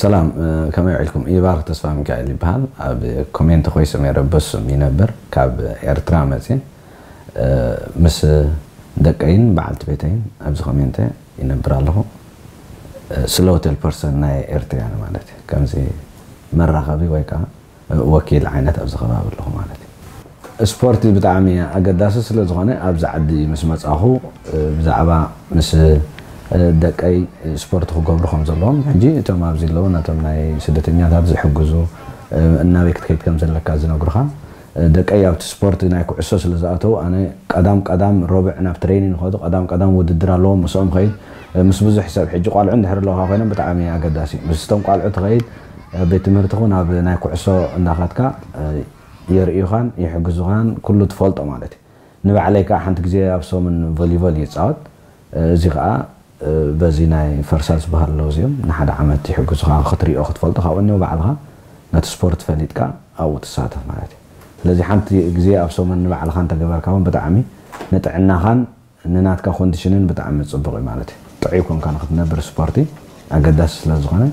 ሰላም፣ ከመይ ውዒልኩም? ይባርክ ተስፋ ሚካኤል ይበሃል። ኣብ ኮሜንት ኮይሰ ሜረ በሱም ይነብር፣ ካብ ኤርትራ መጽየ። ምስ ደቀይን በዓልቲ ቤተይን ኣብዚ ኮሜንት ይነብር ኣለኹ። ስለ ሆቴል ፐርሰን ናይ ኤርትራያን ማለት እዩ። ከምዚ መራኸቢ ወይ ከዓ ወኪል ዓይነት ኣብዚ ከባቢ ኣለኹ ማለት እዩ። ስፖርቲ ብጣዕሚ ኣገዳሲ ስለ ዝኾነ ኣብዚ ዓዲ ምስ መጻኹ ብዛዕባ ምስ ደቀይ ስፖርት ክገብሩ ከም ዘለዎም፣ ሕጂ እቶም ኣብዚ ኣለዉ ነቶም ናይ ስደተኛታት ዝሕግዙ፣ እናበይ ክትከይድ ከም ዘለካ ዝነግሩኻ። ደቀይ ኣብቲ ስፖርት ናይ ኩዕሶ ስለ ዝኣተዉ፣ ኣነ ቀዳም ቀዳም ረቡዕ ናብ ትሬኒንግ ይኸዱ። ቀዳም ቀዳም ውድድር ኣለዎም፣ ምስኦም ኸይድ። ምስ ብዙሕ ሰብ፣ ሕጂ ቋልዑ እንድሕር ኣለውኻ ኮይኖም ብጣዕሚ ኣገዳሲ እዩ። ምስቶም ቋልዑ ትኸይድ፣ ቤት ትምህርቲ ኹን ኣብ ናይ ኩዕሶ እንዳኻትካ የርእዩኻን ይሕግዙኻን፣ ኩሉ ትፈልጦ ማለት እዩ። ንባዕለይ ከዓ ሓንቲ ግዜ ኣብ ሰሙን ቮሊቮል ይፃወት። እዚ ከዓ በዚ ናይ ፈርሳ ዝበሃል ኣለዉ፣ እዚኦም ንሓደ ዓመት ይሕግዙኻ ክትሪኦ ክትፈልጦ፣ ካብኡ እኒኦ ባዕልኻ ነቲ ስፖርት ፈሊጥካ ኣብኡ ትሳተፍ ማለት እዩ። ስለዚ ሓንቲ ግዜ ኣብ ሰሙን ንባዕልኻ እንተገበርካ እውን ብጣዕሚ ንጥዕናኻን ንናትካ ኮንዲሽንን ብጣዕሚ ጽቡቕ እዩ ማለት እዩ። ጥዑይ ኮንካ ንክትነብር ስፖርቲ ኣገዳሲ ስለ ዝኾነ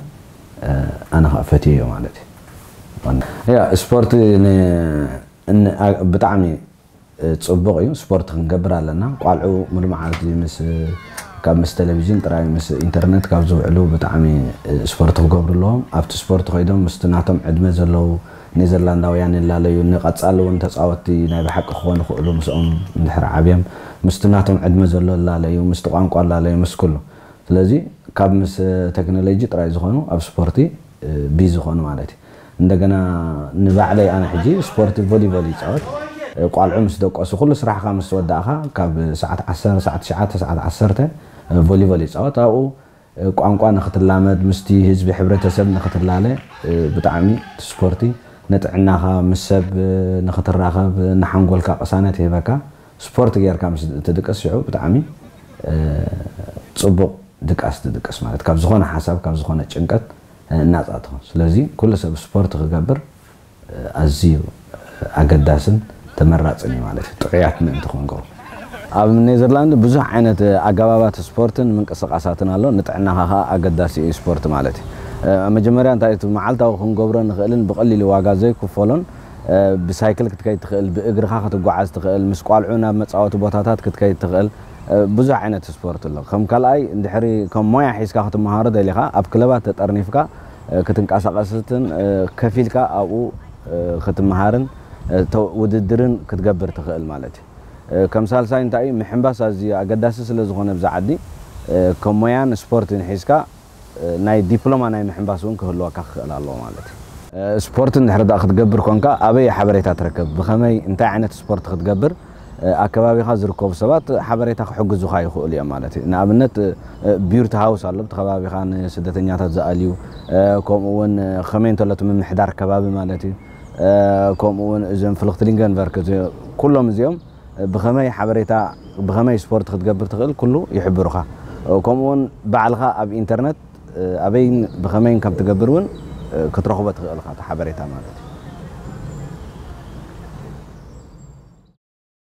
ኣነ ከዓ ፈትየዮ ማለት እዩ። ያ ስፖርቲ ን- ን- ኣ- ብጣዕሚ ጽቡቕ እዩ። ስፖርት ክንገብር ኣለና። ቋልዑ ሙሉ መዓልቲ ምስ ካብ ምስ ቴሌቪዥን ጥራይ ምስ ኢንተርነት ካብ ዝውዕሉ ብጣዕሚ ስፖርት ክገብሩ ኣለዎም። ኣብቲ ስፖርት ከይዶም ምስቲ ናቶም ዕድመ ዘለዉ ኔዘርላንዳውያን ይላለዩ። ንቐጻሊ እውን ተጻወትቲ ናይ ብሓቂ ክኾኑ ይኽእሉ ምስኦም እንድሕር ዓብዮም ምስቲ ናቶም ዕድመ ዘሎ ይላለዩ፣ ምስቲ ቋንቋ ይላለዩ፣ ምስ ኩሉ። ስለዚ ካብ ምስ ቴክኖሎጂ ጥራይ ዝኾኑ ኣብ ስፖርቲ ቢዚ ዝኾኑ ማለት እዩ። እንደገና ንባዕለይ ኣነ ሕጂ ስፖርት ቮሊቦል ይፃወት። ቋልዑ ምስ ደቀሱ ኩሉ ስራሕካ ምስ ወዳእካ ካብ ሰዓት ዓሰርተ ሰዓት ትሽዓተ ሰዓት ዓሰርተ ቮሊቦል ይፃወት። ኣብኡ ቋንቋ ንክትላመድ ምስቲ ህዝቢ ሕብረተሰብ ንክትላለ ብጣዕሚ እቲ ስፖርቲ ንጥዕናኻ ምስ ሰብ ንክትራኸብ ንሓንጎልካ ቅሳነት ይህበካ። ስፖርት ጌርካ ምስ ትድቅስ ሽዑ ብጣዕሚ ፅቡቕ ድቃስ ትድቅስ ማለት ካብ ዝኾነ ሓሳብ ካብ ዝኾነ ጭንቀት ናፃ ትኾን። ስለዚ ኩሉ ሰብ ስፖርት ክገብር ኣዝዩ ኣገዳስን ተመራፅን እዩ ማለት እዩ፣ ጥዑያት ምእንቲ ክንገብሩ። ኣብ ኔዘርላንድ ብዙሕ ዓይነት ኣገባባት ስፖርትን ምንቅስቃሳትን ኣሎ። ንጥዕናኻ ከዓ ኣገዳሲ እዩ ስፖርት ማለት እዩ። ኣብ መጀመርያ እንታይ እቲ መዓልታዊ ክንገብሮ ንኽእልን ብቐሊሉ ዋጋ ዘይክፈሎን ብሳይክል ክትከይድ ትኽእል፣ ብእግርኻ ክትጓዓዝ ትኽእል፣ ምስ ቋልዑ ናብ መፃወቲ ቦታታት ክትከይድ ትኽእል፣ ብዙሕ ዓይነት ስፖርት ኣሎ። ከም ካልኣይ እንድሕሪ ከም ሞያ ሒዝካ ክትመሃሮ ደሊኻ ኣብ ክለባት ተጠርኒፍካ ክትንቀሳቐስትን ከፊልካ ኣብኡ ክትመሃርን ውድድርን ክትገብር ትኽእል ማለት እዩ። ከም ሳልሳይ እንታይ እዩ ምሕንባስ ኣዝዩ ኣገዳሲ ስለ ዝኾነ ብዛ ዓዲ ከም ሞያን ስፖርትን ሒዝካ ናይ ዲፕሎማ ናይ ምሕንባስ እውን ክህልወካ ክኽእል ኣለዎ ማለት እዩ። ስፖርት እንድሕር ዳ ክትገብር ኮንካ ኣበይ ሓበሬታ ትረክብ? ብኸመይ እንታይ ዓይነት ስፖርት ክትገብር ኣከባቢኻ ዝርከቡ ሰባት ሓበሬታ ክሕግዙኻ ይኽእሉ እዮም ማለት እዩ። ንኣብነት ቢርት ሃውስ ኣሎ ብቲ ከባቢኻ ንስደተኛታት ዝኣልዩ፣ ከምኡ እውን ከመይ እንተሎ እቲ ምምሕዳር ከባቢ ማለት እዩ። ከምኡ እውን እዞም ፍልክትሊንገን ቨርክ ኩሎም እዚኦም ብኸመይ ሓበሬታ ብኸመይ ስፖርት ክትገብር ትኽእል ኩሉ ይሕብሩኻ። ከምኡ እውን ባዕልኻ ኣብ ኢንተርነት ኣበይን ብኸመይን ከም ትገብር እውን ክትረኽቦ ትኽእል ኢኻ እቲ ሓበሬታ ማለት እዩ።